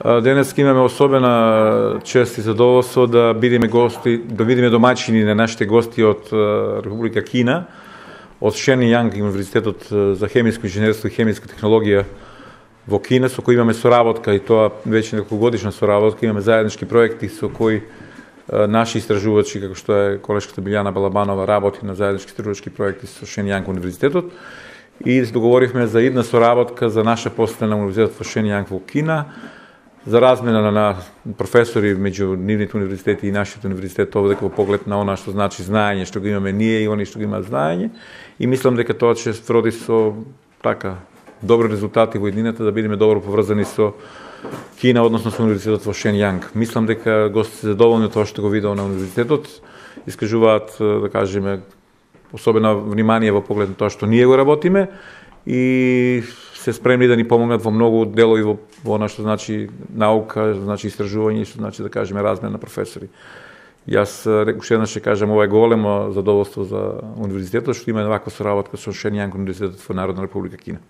Денес имаме особена чест и задоволство да бидеме гости, да бидеме домаќини на нашите гости од Република Кина, од Шен Јанг Универзитетот за хемиско инженерство и хемиска технологија во Кина, со кој имаме соработка, и тоа веќе неколкогодишна соработка. Имаме заеднички проекти со кои наши истражувачи, како што е колешката Билјана Балабанова, работи на заеднички истражувачки проекти со Шен Јанг Универзитетот, и договоривме за една соработка за наша постана на Универзитетот во Шен Јанг во Кина, за размена на професори меѓу нивните универзитети и нашите универзитет, овде во поглед на она што значи знаење, што го имаме ние и они што го имаат знаење, и мислам дека тоа ќе роди со така добри резултати во еднината, да бидеме добро поврзани со Кина, односно со универзитетот во Шен Јанг. Мислам дека гостите се задоволни од тоа што го видел на универзитетот, искажуваат, да кажеме, особено внимание во поглед на тоа што ние го работиме, и се спремни да ни помогнат во многу делови во она што значи наука, значи истражување, што значи, да кажеме, размена на професори. Јас уште еднаш ќе кажам, ова е големо задоволство за универзитетот што има ваква соработка со Шен Јанг Универзитетот во Народна Република Кина.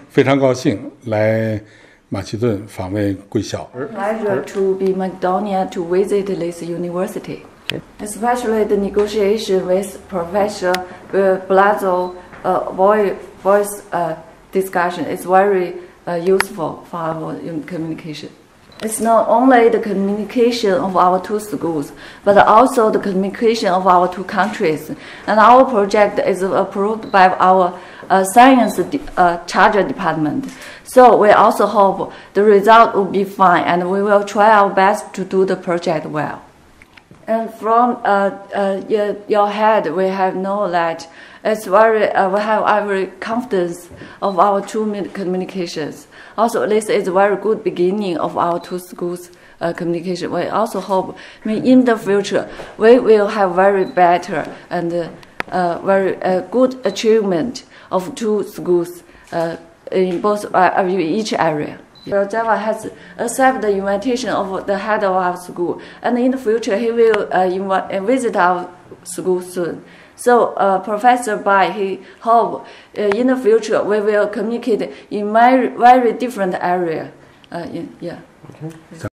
非常高兴来马其顿访问贵校。 Pleasure to be Macedonia to visit this university, especially the negotiation with Professor Blasel voice discussion is very useful for our communication. It's not only the communication of our two schools, but also the communication of our two countries. And our project is approved by our science charter department. So we also hope the result will be fine, and we will try our best to do the project well. And from your head, we have known that it's very, we have every confidence of our two communications. Also, this is a very good beginning of our two schools' communication. We also hope in the future we will have very better and very good achievement of two schools in both each area. Java has accepted the invitation of the head of our school, and in the future he will visit our school soon. So Professor Bai, he hope in the future we will communicate in very different area. Yeah. Okay.